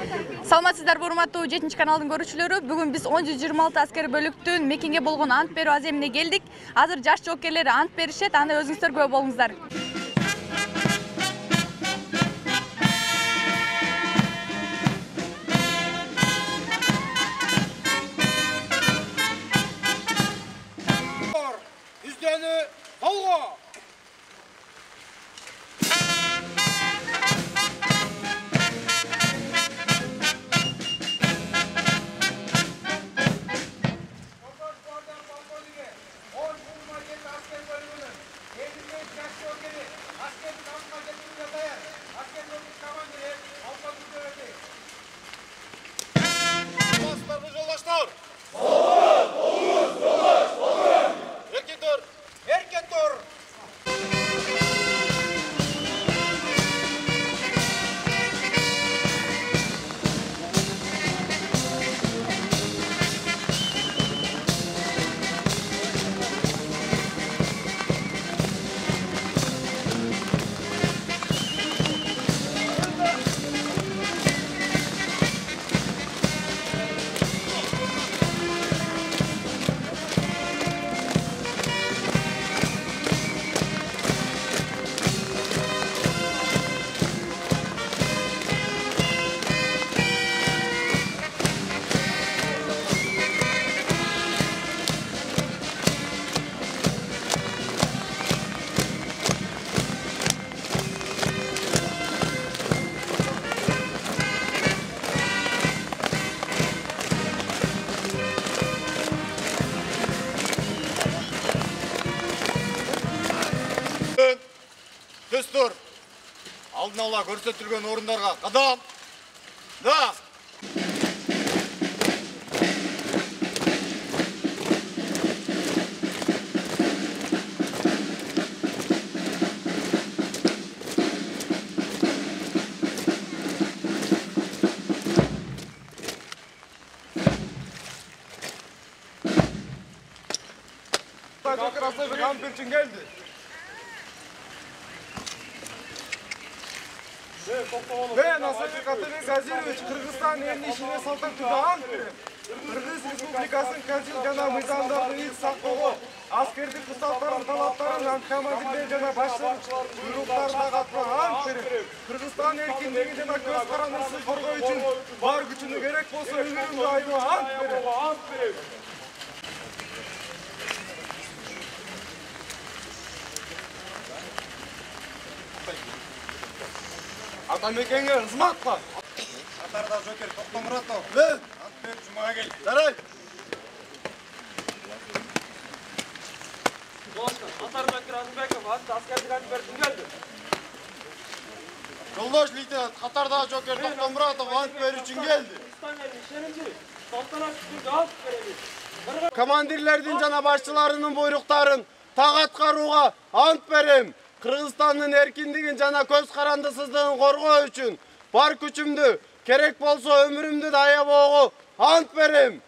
Саламатсыздарбы урматтуу 7-каналдын көрүүчүлөрү. Бүгүн биз 1026 аскер бөлүктүн мекенге болгон ант берүү аземине келдик. Азыр жаш жоокерлер ант беришет, аны өзүңүздөр күбө болуңуздар. Үздөнү солго. Түстүр. Алдын ала көрсөтүлгөн орундарга кадам. Да. Geldi. Ben Asafir Katalin Gazirovich Kırgızstan elini işine saltan tutan Kırgız Respublikasının Kazil jana mыйзамдардын ilk saklығы askerdi kısaltların talaптарын komandirler жана başçылар buyruklarına katmagan Kırgızstan erkinliği жана көз карандысыз коргоо үчүн бар күчүнө керек болсо өмүрүмдү айма ант берем. Атамекенге ызмат бар. Катарда жокер Токтомуратов. Ант берип жумага кел. Жарай. Атарбек Разымбеков аскердик ант берип келди. Жолдош лейтенант Катарда жокер Токтомуратов ант берип үчүн келди. Командирлердин жана башчыларынын буйруктарын так аткарууга ант берем. Кыргызстандын эркиндигин жана көз карандысыздыгын коргоо үчүн бар күчүмдү, керек болсо өмүрүмдү да аябоого ант берем.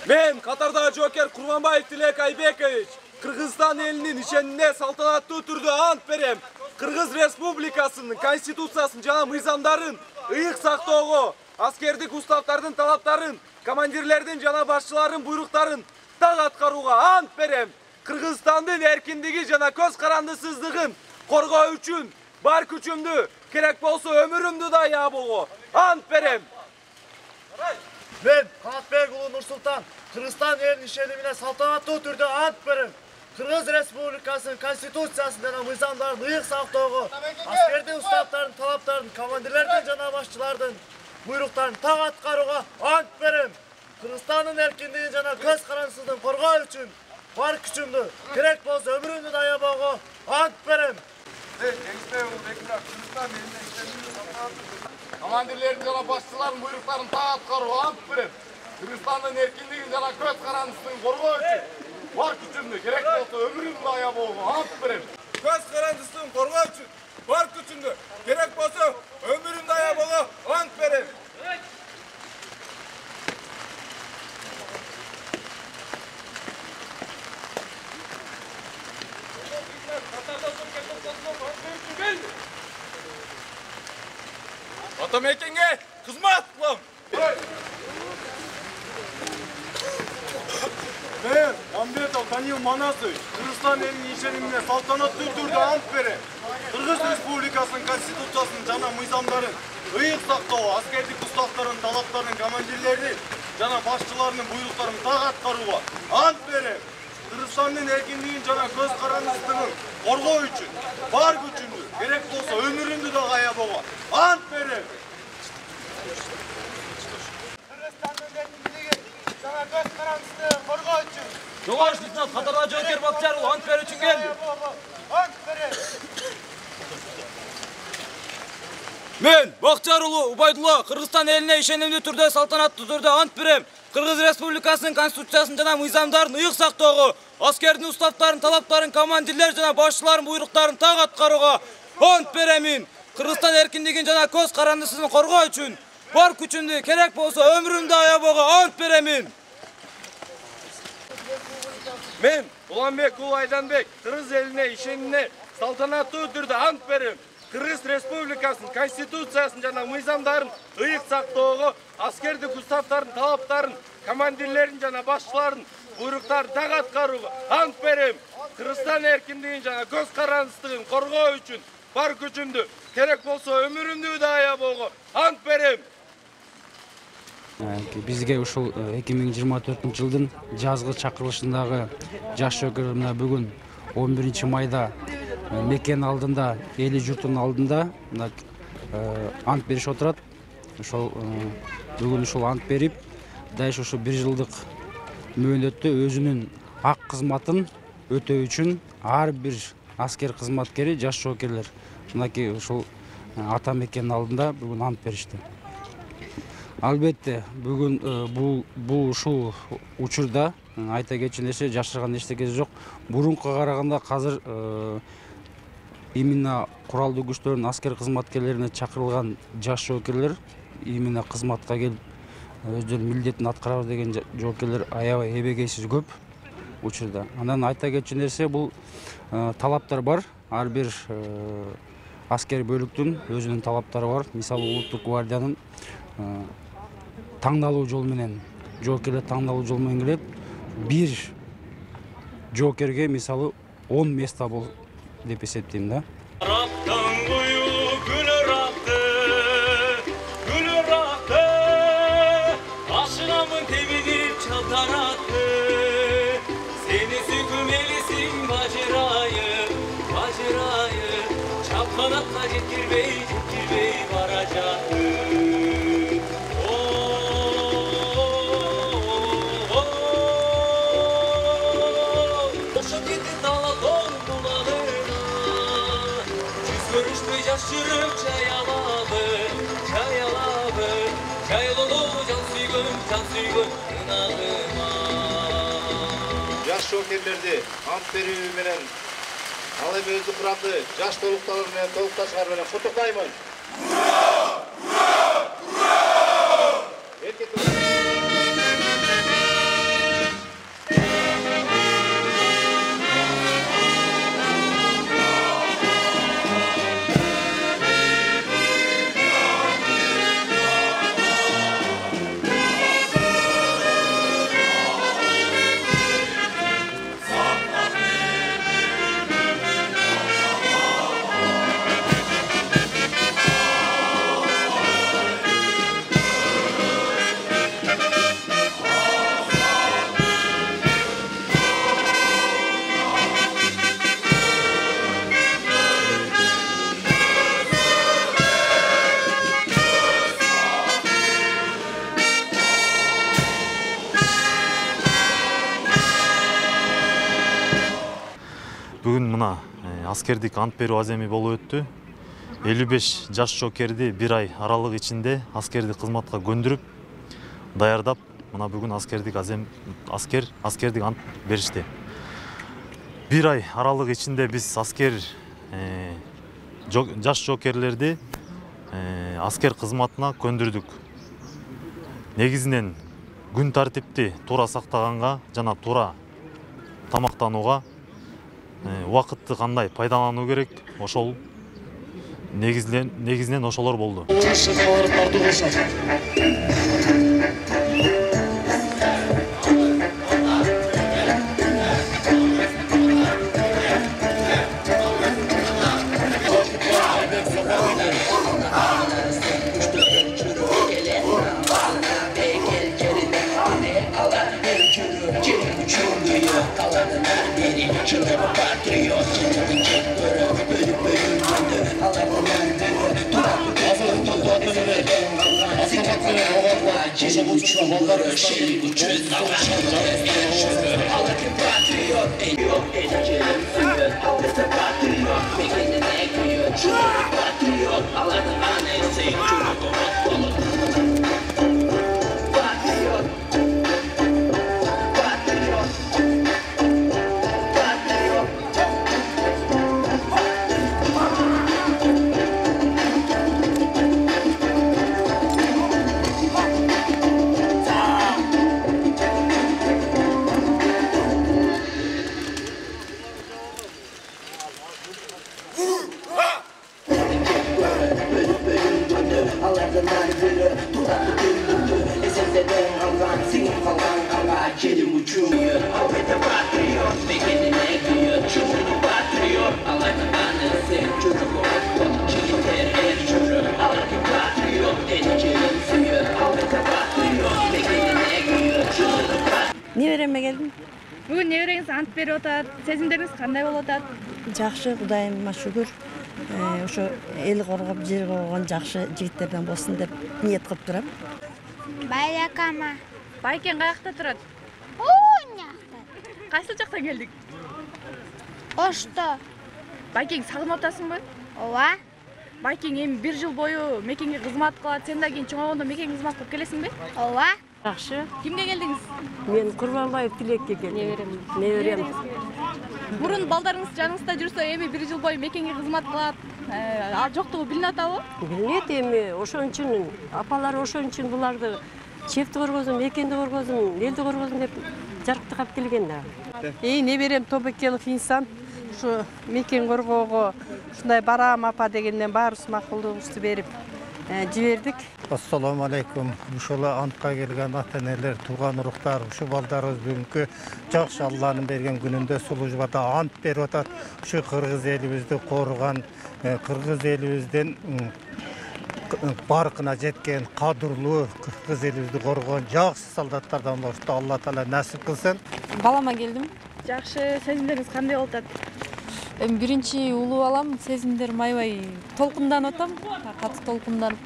Мен Катарда жокер Курманбаев Тилек Айбекович Кыргызстан элинин ишенине салтанаттуу түрдө ант берем. Кыргыз Республикасынын конституциясын жана мыйзамдарын ыйык сактоого, аскердик уставдардын талаптарын, командирлердин жана башчылардын буйруктарын так аткарууга ант берем. Кыргызстандын эркиндиги жана көз карандысыздыгын коргоо үчүн бар күчүмдү, керек болсо өмүрүмдү да аябоого ант берем. Мен Канатбек уулу Нурсултан Кыргызстан элинин ишенимине салтанаттуу түрдө ант берем. Кыргыз Республикасынын конституциясын жана мыйзамдарын ыйык сактоого, аскердин уставдардын талаптарын, командирлердин жана башчылардын буйруктарын так аткарууга ант берем. Кыргызстандын эркиндигин жана көз карандысыздыгын коргоо үчүн бар күчүмдү, керек болсо өмүрүмдү да аябоого ант берем. Командирлердин жана башчылардын буйруктарын так аткарууга ант берем. Кыргызстандын эркиндигин жана көз карандысыздыгын коргоо үчүн бар күчүмдү, керек болсо өмүрүмдү да аябоого ант берем. Көз карандысыздыгын коргоо үчүн бар күчүмдү, керек болсо өмүрүмдү да аябоого ант берем. Атамекенге кызмат кылам. Мен Амбетов Данил Манасович Кыргызстан элинин ишенимине салтанаттуу түрдө ант берем. Кыргыз Республикасынын Конституциясынын жана мыйзамдарын ыйык сактоо, аскердик уставдардын талаптарын командирлердин жана башчыларынын буйруктарын так аткарууга ант берем. Кыргызстандын эркиндигин жана көз карандысыздыгын коргоо үчүн бар күчүмдү, керек болсо өмүрүмдү да аябоого ант берем. Кыргызстандын эркиндигин жана көз карандысыздыгын коргоо үчүн Жогорку лейтенант Катарга жоокер Бакчаров ант берүү үчүн келди. ант берем. Мен Бакчар уулу Убайдулла Кыргызстан элине ишенимдүү түрдө салтанаттуу түрдө ант берем. Кыргыз Республикасынын Конституциясын жана мыйзамдарын ыйык сактоого, аскердин уставдарын, талаптарын, командирлер жана башчылардын буйруктарын так аткарууга ант беремин. Кыргызстан эркиндигин жана көз карандысыздыгын коргоо үчүн бар күчүмдү, керек болсо өмүрүмдү аябоого ант беремин. Мен Уланбек уулу Айданбек Кыргыз элине ишенимине салтанаттуу түрдө ант берем. Кыргыз Республикасынын Конституциясын жана мыйзамдарын ыйык сактоого, аскердик уставдардын талаптарын, командирлердин жана башчылардын буйруктарын так аткарууга ант берем. Кыргызстан эркиндигин жана көз карандысыздыгын коргоо үчүн бар күчүмдү, керек болсо өмүрүмдү да аябоого ант берем. Бизге ушул 2024-жылдын жазгы чакырылышындагы жаш жоокерлер мына бүгүн 11-майда мекен алдында, эли журтунун алдында ант беришип отурат. Ошол бүгүн ушул ант берип, дайыш ушу 1 жылдык мөөнөттө өзүнүн ак кызматын өтөө үчүн ар бир аскер кызматкери, жаш жоокерлер мынакей ушул ата мекенин алдында бүгүн ант беришти. Албетте бүгүн бул ушул учурда айта кетчү нерсе жашырган эчтекеси жок. Бурункуга караганда азыр именно куралдуу күчтөрдүн аскер кызматкерлерине чакырылган жаш жоокерлер именно кызматка келип өздөрүнүн милдетин аткарабыз деген жоокерлер аябай эбегейсиз көп учурда. Андан айта кетчү нерсе бул талаптар бар. Ар бир аскер бөлүктүн өзүнүн талаптары бар. Мисалы улуттук гвардиянын таңдалуу жол менен, жоокерлер таңдалуу жол менен келет. Бир жоокерге мисалы 10 места бол деп эсептейм да. Жаш жоокерлерди ант берүү менен ал эми өзү курамды жаш толукталар менен толукташканы менен куттуктаймын. Бүгүн мына аскердик ант берүү аземи болуп өттү. 55 жаш жоокерди 1 ай аралык ичинде аскердик кызматка көндүрүп, даярдап, мына бүгүн аскердик ант беришти. 1 ай аралык ичинде биз жаш жоокерлерди аскер кызматына көндүрдүк. Негизинен күн тартипти туура сактаганга жана туура тамактанууга убакытты кандай пайдалануу керек, ошол негизинен ошолор болду. Небереме келдим. Бүгүн небереңиз ант берип атат. Сезимдериңиз кандай болуп атат? Жакшы, Кудайыма шүгүр. Ошо эл коргоп, жер коргогон жакшы жигиттерден болсун деп ниет кылып турам. Байракама. Байкен каякта турат? Оонакта. Кайсы жактан келдик? Ошто. Байкең сагынып атасыңбы? Ооба. Байкең эми 1 жыл бою мекенге кызмат кылат. Сен да кийин чоңойгондо мекенге кызмат кылып келесиңби? Ооба. Жакшы. Кимге келдиңиз? Мен Курманбаев Тилекке келдим. Неберем. Мурун балдарыңыз жаныңызда жүрсө, эми 1 жыл бою мекенге кызмат кылат. Ал жоктугу билинип атабы? Билет эми, ошон үчүн апалар ошон үчүн буларды чепти коргозун, мекенди коргозун, элди коргозун деп жарыктап келген да. Неберем Тобекенов инсан. Ушу мекен коргоого ушундай барам апа дегенден баарыбыз макулдугубузду берип жибердик. Ассаламу алейкум. Ушул антка келген ата-энелер, тууган уруктар, ушу балдарыбыз бүгүнкү жакшы Алланын берген күнүндө сулужбада ант берип атат. Ушу кыргыз элибизди корган, кыргыз элибизден баркына жеткен, кадырлуу кыргыз элибизди коргон жакшы солдаттардан болушту. Алла таала насип кылсын. Балама келдим. Жакшы, сезимдериңиз кандай болуп атат? Эми биринчи улуу балам, сезимдерим аябай толкунданып атам. Катуу толкунданып,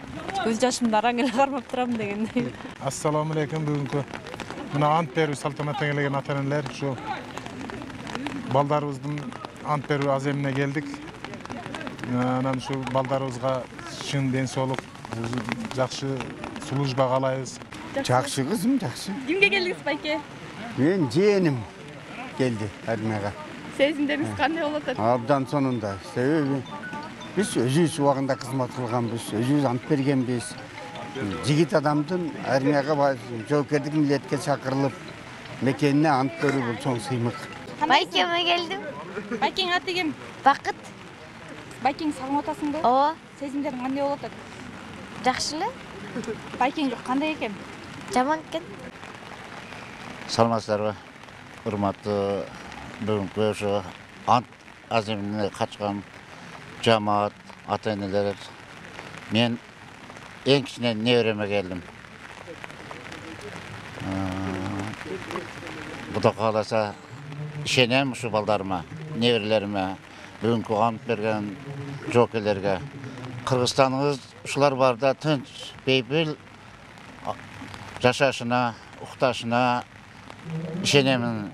көз жашымды араң эле кармап турам дегендей. Ассаламу алейкум. Бүгүнкү мына ант берүү салтанатына келген ата-энелер, ушу балдарыбыздын ант берүү аземине келдик. Анан ушу балдарыбызга чын ден соолук, жакшы служба каалайбыз. Жакшы кызым, жакшы. Кимге келдиңиз, байке? Мен жээним келди армияга. Сезимдериңиз кандай болуп атат? Абдан сонунда. Себеби биз өзүбүз убагында кызмат кылганбыз, өзүбүз ант бергенбиз. Жигит адамдын армияга жоопкердик милдетке чакырылып, мекенине ант берүү бул чоң сыймык. Байкеме келдим. Байкең аты ким? Бакыт. Байкең сагынып атасыңбы? Ооба. Сезимдериң кандай болуп атат? Жакшы эле. Байкең кандай экен? Жаман экен. Саламатсыздарбы? Урматтуу бүгүнкү ушу ант аземине катышкан жамаат, ата-энелер. Мен эң кичине небереме келдим. Кудай кааласа ишенем ушу балдарыма, неберелериме, бүгүнкү ант берген жоокерлерге. Кыргызстаныбыз ушулар барда тынч, бейпил жашашына, укташына ишенемин.